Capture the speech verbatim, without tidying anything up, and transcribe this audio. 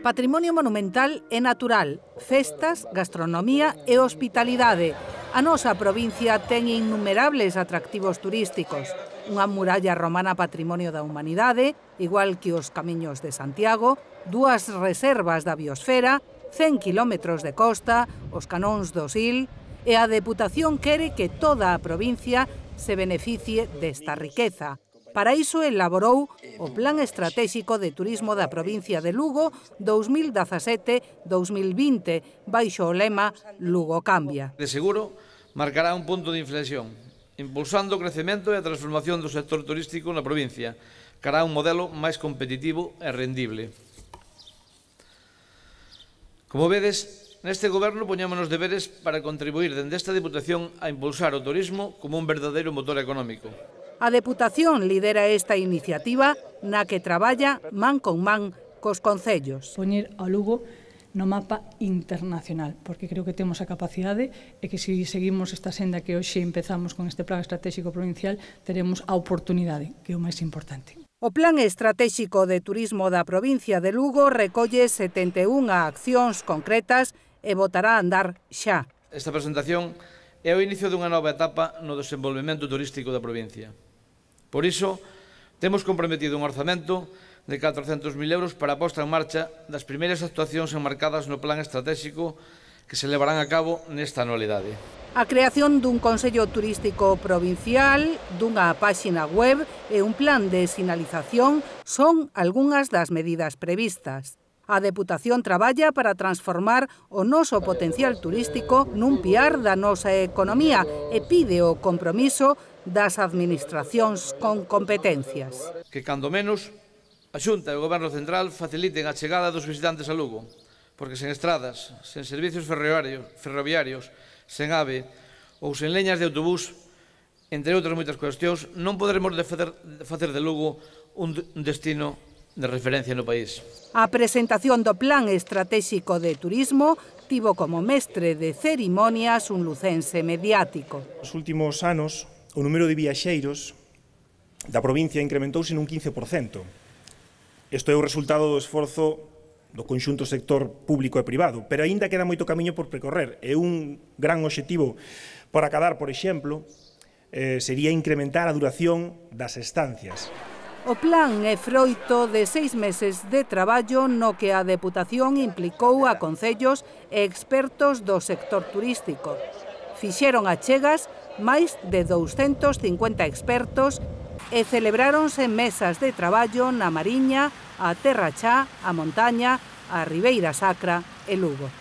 Patrimonio monumental e natural, festas, gastronomía e hospitalidade. A nosa provincia ten innumerables atractivos turísticos. Unha muralla romana patrimonio da humanidade, igual que os Camiños de Santiago, dúas reservas da biosfera, cen quilómetros de costa, os canóns do Sil, e a Deputación quere que toda a provincia se beneficie desta riqueza. Para iso elaborou o Plan Estratéxico de Turismo da provincia de Lugo dous mil dezasete a dous mil vinte, baixo o lema Lugo cambia. De seguro, marcará un punto de inflexión, impulsando o crecemento e a transformación do sector turístico na provincia, cara a un modelo máis competitivo e rendible. Como vedes, neste goberno poñémonos deberes para contribuir dende esta Deputación a impulsar o turismo como un verdadeiro motor económico. A Deputación lidera esta iniciativa na que traballa man con man cos concellos. Poñer ao Lugo no mapa internacional, porque creo que temos a capacidade e que se seguimos esta senda que hoxe empezamos con este Plan Estratégico Provincial, teremos a oportunidade, que é o máis importante. O Plan Estratégico de Turismo da provincia de Lugo recolle setenta e unha accións concretas e botará a andar xa. Esta presentación é o inicio dunha nova etapa no desenvolvemento turístico da provincia. Por iso, temos comprometido un orzamento de catrocentos mil euros para a posta en marcha das primeiras actuacións enmarcadas no Plan Estratégico que se levarán a cabo nesta anualidade. A creación dun Consello Turístico Provincial, dunha páxina web e un plan de sinalización son algunhas das medidas previstas. A Deputación traballa para transformar o noso potencial turístico nun piar da nosa economía e pide o compromiso das administracións con competencias. Que, cando menos, a Xunta e o Goberno Central faciliten a chegada dos visitantes a Lugo, porque sen estradas, sen servicios ferroviarios, ferroviarios, sen AVE ou sen leñas de autobús, entre outras moitas cuestións, non poderemos facer de Lugo un destino de referencia no país. A presentación do Plan Estratégico de Turismo tivo como mestre de cerimonias un lucense mediático. Nos últimos anos, o número de viaxeiros da provincia incrementouse nun quince por cento. Isto é o resultado do esforzo do conxunto sector público e privado, pero aínda queda moito camiño por percorrer. E un gran obxectivo para acadar, por exemplo, eh, sería incrementar a duración das estancias. O plan é froito de seis meses de traballo no que a Deputación implicou a concellos e expertos do sector turístico. Fixeron achegas máis de douscentos cincuenta expertos e celebráronse mesas de traballo na Mariña, a Terra Chá, a Montaña, a Ribeira Sacra e Lugo.